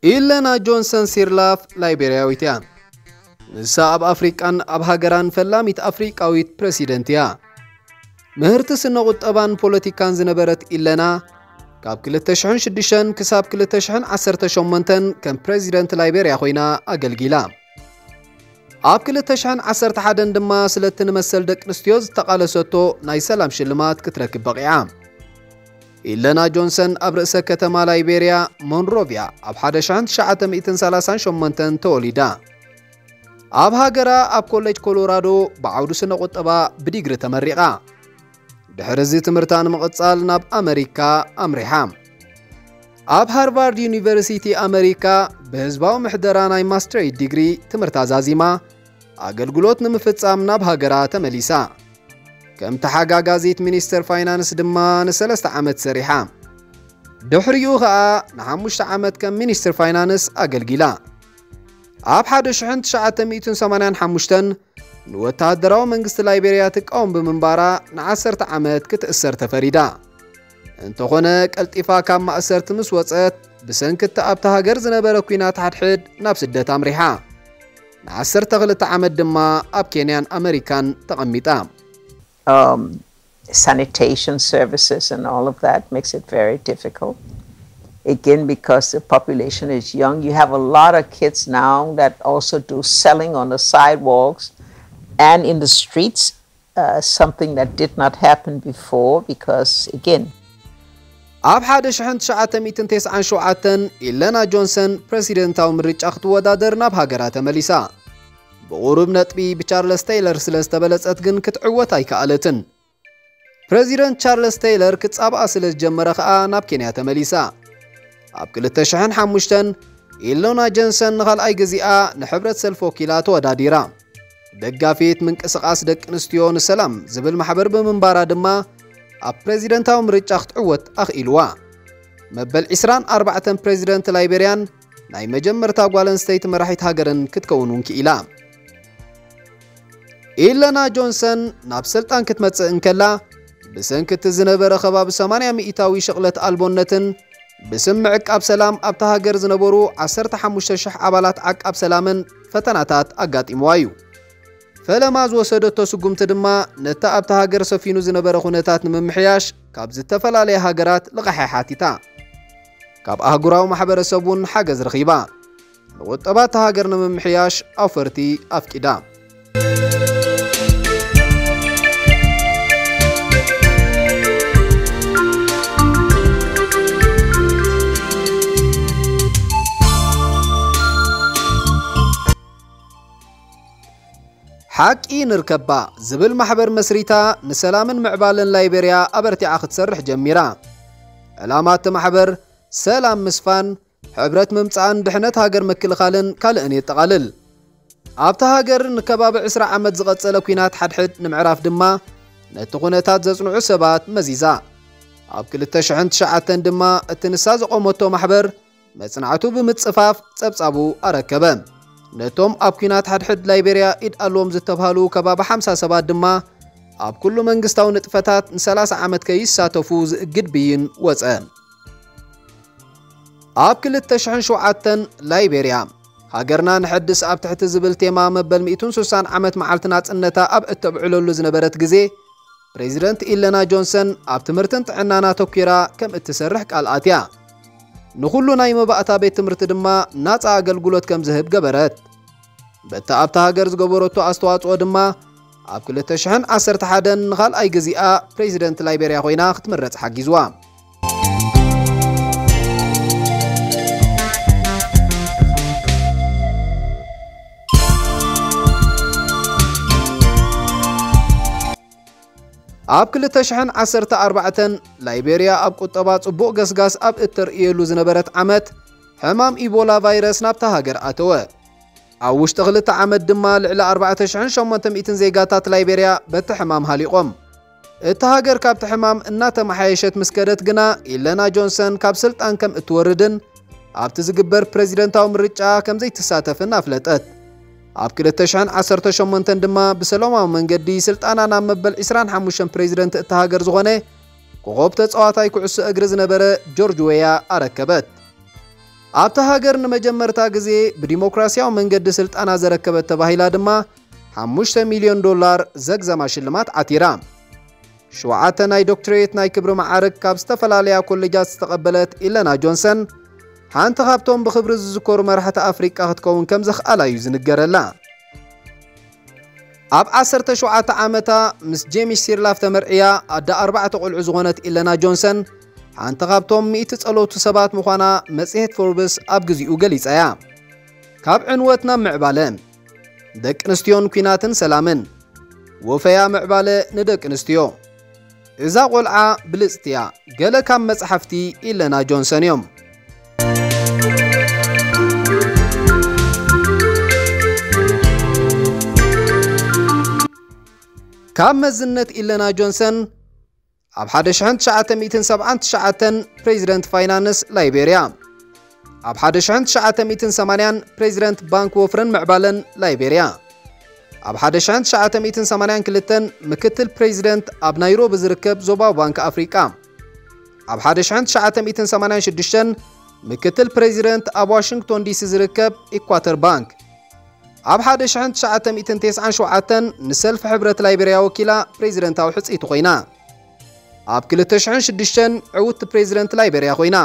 ኢለና ጆንሰን ሲርላፍ ላይቤርያዊት እያ። ንሳ ኣብ ኣፍሪቃን ኣብ ሃገራን ፈላሚት ኣፍሪቃዊት ፕረሲደንት እያ። ምህርቲ ስነ ቁጠባን ፖለቲካን ዝነበረት ኢለና፣ ካብ ክልተ ሽሕን ሽዱሽተን ክሳብ ክልተ ሽሕን ዓሰርተ ሸሞንተን ከም ፕረዚደንት ላይቤርያ ኮይና ኣገልጊላ። ኣብ ክልተ ሽሕን ዓሰርተ ሓደን ድማ ስለቲ ንመሰል ደቂ ኣንስትዮ ዝተቓለሰቶ ናይ ሰላም ሽልማት ክትረክብ በቒዓ። ኢለና ጆንሰን ኣብ ርእሰ ከተማ ላይቤርያ ሞንሮቪያ ኣብ ሓደ ሽሕን ትሽዓተ ሚእትን ሰላሳን ሸሞንተን ተወሊዳ። ኣብ ሃገራ ኣብ ኮሌጅ ኮሎራዶ ብዓውዲ ስነ ቁጠባ ብዲግሪ ተመሪቓ። ድሕሪ እዚ ትምህርታ ንምቕጻል ናብ ኣመሪካ ኣምሪሓ። ኣብ ሃርቫርድ ዩኒቨርሲቲ ኣመሪካ ብህዝባዊ ምሕደራ ናይ ማስትሬት ዲግሪ ትምህርታ ዛዚማ ኣገልግሎት ንምፍጻም ናብ ሃገራ ተመሊሳ። ከም ተሓጋጋዚት ሚኒስተር ፋይናንስ ድማ ንሰለስተ ዓመት ሰሪሓ። ድሕሪኡ ኸኣ ንሓሙሽተ ዓመት ከም ሚኒስተር ፋይናንስ ኣገልጊላ። ኣብ ሓደ ሽሕን ትሽዓተ ሚእትን ሰማንያን ሓሙሽተን ንወተሃደራዊ መንግስቲ ላይቤርያ ትቃወም ብምንባራ ንዓሰርተ ዓመት ክትእሰር ተፈሪዳ። እንተኾነ ቀልጢፋ ካብ ማእሰርቲ ምስ ወጸት ብሰንኪ እቲ ኣብታ ሃገር ዝነበረ ኲናት ሓድሕድ ናብ ስደት ኣምሪሓ። ንዓሰርተ ክልተ ዓመት ድማ ኣብ ኬንያን ኣመሪካን ተቐሚጣ። um, sanitation services and all of that makes it very difficult. Again, because the population is young, you have a lot of kids now that also do selling on the sidewalks and in the streets, uh, something that did not happen before because, again, ኣብ ሓደ ሽሕን ትሽዓተ ሚእትን ተስዓን ሸውዓተን ኢለና ጆንሰን ፕረሲደንታዊ ምርጫ ክትወዳደር ናብ ሃገራ ተመሊሳ። ብቑሩብ ነጥቢ ብቻርለስ ቴይለር ስለ ዝተበለጸት ግን ክትዕወት ኣይከኣለትን። ፕረዚደንት ቻርለስ ቴይለር ክጻብኣ ስለ ዝጀመረ ኸኣ ናብ ኬንያ ተመሊሳ። ኣብ ክልተ ሽሕን ሓሙሽተን ኢሎና ጀንሰን ንኻልኣይ ግዜኣ ንሕብረት ሰልፊ ወኪላ ተወዳዲራ። ደጋፊት ምንቅስቓስ ደቂ ኣንስትዮ ንሰላም ዝብል ማሕበር ብምንባራ ድማ ኣብ ፕረዚደንታዊ ምርጫ ክትዕወት ኣኽኢልዋ። መበል ዕስራን ኣርባዕተን ፕረዚደንት ላይቤርያን ናይ መጀመርታ ጓል ኣንስተይቲ መራሒት ሃገርን ክትከውን እውን ክኢላ። ኢለና ጆንሰን ናብ ስልጣን ክትመጽእ እንከላ ብሰንኪ እቲ ዝነበረ ከባቢ ሰማንያ ሚእታዊ ሽቕለት ኣልቦነትን ብስም ምዕቃብ ሰላም ኣብታ ሃገር ዝነበሩ ዓሰርተ ሓሙሽተ ሽሕ ኣባላት ዓቃብ ሰላምን ፈተናታት ኣጋጢምዋ እዩ። ፈለማ ዝወሰደቶ ስጉምቲ ድማ ነቲ ኣብታ ሃገር ሰፊኑ ዝነበረ ኩነታት ንምምሕያሽ ካብ ዝተፈላለያ ሃገራት ልቓሕ ሓቲታ። ካብ ኣህጉራዊ ማሕበረሰብ እውን ሓገዝ ረኺባ። ንቁጠባ እታ ሃገር ንምምሕያሽ ኣውፈርቲ ኣፍቂዳ። ሓቂ ንርከባ ዝብል ማሕበር መስሪታ ንሰላምን ምዕባለን ላይቤርያ ኣበርቲዓ ክትሰርሕ ጀሚራ። ዕላማ እቲ ማሕበር ሰላም ምስፋን፣ ሕብረት ምምጻእን ድሕነት ሃገር ምክልኻልን ካልእን የጠቓልል። ኣብታ ሃገር ንከባቢ ዕስራ ዓመት ዝቐጸለ ኲናት ሓድሕድ ንምዕራፍ ድማ ነቲ ኩነታት ዘጽንዑ ሰባት መዚዛ። ኣብ ክልተ ሽሕን ትሽዓተን ድማ እቲ ንሳ ዘቖመቶ ማሕበር መጽናዕቱ ብምጽፋፍ ጸብጻቡ ኣረከበ። ነቶም ኣብ ኲናት ሓድሕድ ላይቤርያ ኢድ ኣለዎም ዝተብሃሉ ከባቢ ሓምሳ ሰባት ድማ ኣብ ኩሉ መንግስታዊ ንጥፈታት ንሰላሳ ዓመት ከይሳተፉ ዝእግድ ብይን ወጸ። ኣብ ክልተ ሽሕን ሸውዓተን ላይቤርያ ሃገርና ንሐድስ ኣብ ትሕቲ ዝብል ቴማ መበል ሚእትን ስሳን ዓመት መዓልቲ ናጽነታ ኣብ እተብዕለሉ ዝነበረት ግዜ ፕሬዚደንት ኢለና ጆንሰን ኣብ ትምህርትን ጥዕናን ኣተኲራ ከም እትሰርሕ ቃል ኣትያ። ንኹሉ ናይ መባእታ ቤት ትምህርቲ ድማ ናጻ ኣገልግሎት ከም ዝህብ ገበረት። በቲ ኣብታ ሃገር ዝገበረቶ ኣስተዋጽኦ ድማ ኣብ ክልተ ሽሕን ዓሰርተ ሓደን ንኻልኣይ ግዜኣ ፕሬዚደንት ላይቤርያ ኮይና ክትምረጽ ሓጊዝዋ። ኣብ ክልተ ሽሕን ዓሰርተ ኣርባዕተን ላይቤርያ ኣብ ቁጠባ ጽቡቕ ገስጋስ ኣብ እተርእየሉ ዝነበረት ዓመት ሕማም ኢቦላ ቫይረስ ናብታ ሃገር ኣተወ። ኣብ ውሽጢ ክልተ ዓመት ድማ ልዕሊ ኣርባዕተ ሽሕን ሸሞንተ ሚእትን ዜጋታት ላይቤርያ በቲ ሕማም ሃሊቖም። እታ ሃገር ካብቲ ሕማም እናተመሓየሸት ምስ ከደት ግና ኢለና ጆንሰን ካብ ስልጣን ከም እትወርድን ኣብቲ ዝግበር ፕረዚደንታዊ ምርጫ ከም ዘይትሳተፍን ኣፍለጠት። ኣብ ክልተ ሽሕን ዓሰርተ ሸሞንተን ድማ ብሰላማዊ መንገዲ ስልጣና ናብ መበል ዕስራን ሓሙሽተን ፕረዚደንት እታ ሃገር ዝኾነ ኮኾብ ተጻዋታይ ኩዕሶ እግሪ ዝነበረ ጆርጅ ዌያ ኣረከበት። ኣብታ ሃገር ንመጀመርታ ግዜ ብዲሞክራሲያዊ መንገዲ ስልጣና ዘረከበት ተባሂላ ድማ ሓሙሽተ ሚልዮን ዶላር ዘግዘማ ሽልማት ዓቲራ። ሸውዓተ ናይ ዶክትሬት ናይ ክብሪ መዓርግ ካብ ዝተፈላለያ ኮሌጃት ዝተቐበለት ኢለና ጆንሰን፣ ሓንቲ ካብቶም ብኽብሪ ዝዝከሩ መራሕቲ ኣፍሪቃ ክትከውን ከም ዘኽኣላ እዩ ዝንገረላ። ኣብ ዓሰርተ ሸውዓተ ዓመታ ምስ ጄምስ ሲርላፍ ተመርዕያ ኣደ ኣርባዕተ ቆልዑ ዝኾነት ኢለና ጆንሰን፣ ሓንቲ ካብቶም ሚእቲ ጸለውቲ ሰባት ምዃና መጽሔት ፎርብስ ኣብ ግዚኡ ገሊጻ እያ። ካብ ዕንወት ናብ ምዕባለ፣ ደቂ ኣንስትዮን ኲናትን ሰላምን፣ ወፈያ ምዕባለ ንደቂ ኣንስትዮ። እዛ ቆልዓ ብልጽቲ እያ። ገለ ካብ መጽሓፍቲ ኢለና ጆንሰን እዮም። ካብ መዝነት ኢለና ጆንሰን፣ ኣብ ሓደ ሽሕን ትሽዓተ ሚእትን ሰብዓን ትሽዓተን ፕሬዚደንት ፋይናንስ ላይቤርያ፣ ኣብ ሓደ ሽሕን ትሽዓተ ሚእትን ሰማንያን ፕሬዚደንት ባንክ ወፍርን ምዕባለን ላይቤርያ፣ ኣብ ሓደ ሽሕን ትሽዓተ ሚእትን ሰማንያን ክልተን ምክትል ፕሬዚደንት ኣብ ናይሮቢ ዝርከብ ዞባዊ ባንክ ኣፍሪቃ፣ ኣብ ሓደ ሽሕን ትሽዓተ ሚእትን ሰማንያን ሽዱሽተን ምክትል ፕሬዚደንት ኣብ ዋሽንግቶን ዲሲ ዝርከብ ኢኳተር ባንክ፣ ኣብ ሓደ ሽሕን ትሽዓተ ሚእትን ተስዓን ሸውዓተን ንሰልፊ ሕብረት ላይቤርያ ወኪላ ፕሬዚደንታዊ ሕጽይቲ ኮይና። ኣብ ክልተ ሽሕን ሽዱሽተን ዕውትቲ ፕሬዚደንት ላይቤርያ ኮይና።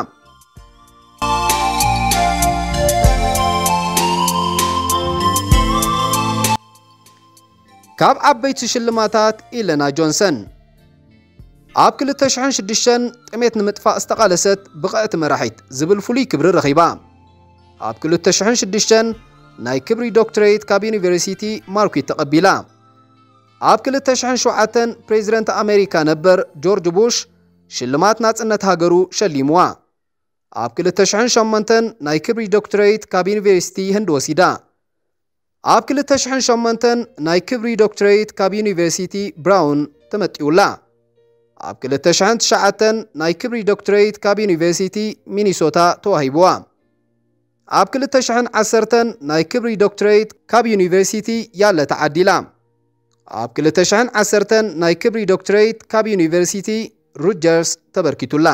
ካብ ዓበይቲ ሽልማታት ኢለና ጆንሰን፣ ኣብ ክልተ ሽሕን ሽዱሽተን ጥሜት ንምጥፋእ ዝተቓለሰት ብቕዕቲ መራሒት ዝብል ፍሉይ ክብሪ ረኺባ። ኣብ ክልተ ሽሕን ሽዱሽተን ናይ ክብሪ ዶክትሬት ካብ ዩኒቨርሲቲ ማርኩት ተቐቢላ። ኣብ ክልተ ሽሕን ሸውዓተን ፕሬዚደንት ኣሜሪካ ነበር ጆርጅ ቡሽ ሽልማት ናጽነት ሃገሩ ሸሊምዋ። ኣብ ክልተ ሽሕን ሸሞንተን ናይ ክብሪ ዶክትሬት ካብ ዩኒቨርሲቲ ህንድ ወሲዳ። ኣብ ክልተ ሽሕን ሸሞንተን ናይ ክብሪ ዶክትሬት ካብ ዩኒቨርሲቲ ብራውን ተመጢውላ። ኣብ ክልተ ሽሕን ትሽዓተን ናይ ክብሪ ዶክትሬት ካብ ዩኒቨርሲቲ ሚኒሶታ ተዋሂብዋ። ኣብ ክልተ ሽሕን ዓሰርተን ናይ ክብሪ ዶክትሬት ካብ ዩኒቨርሲቲ ያለ ተዓዲላ። ኣብ ክልተ ሽሕን ዓሰርተን ናይ ክብሪ ዶክትሬት ካብ ዩኒቨርሲቲ ሩጀርስ ተበርኪቱላ።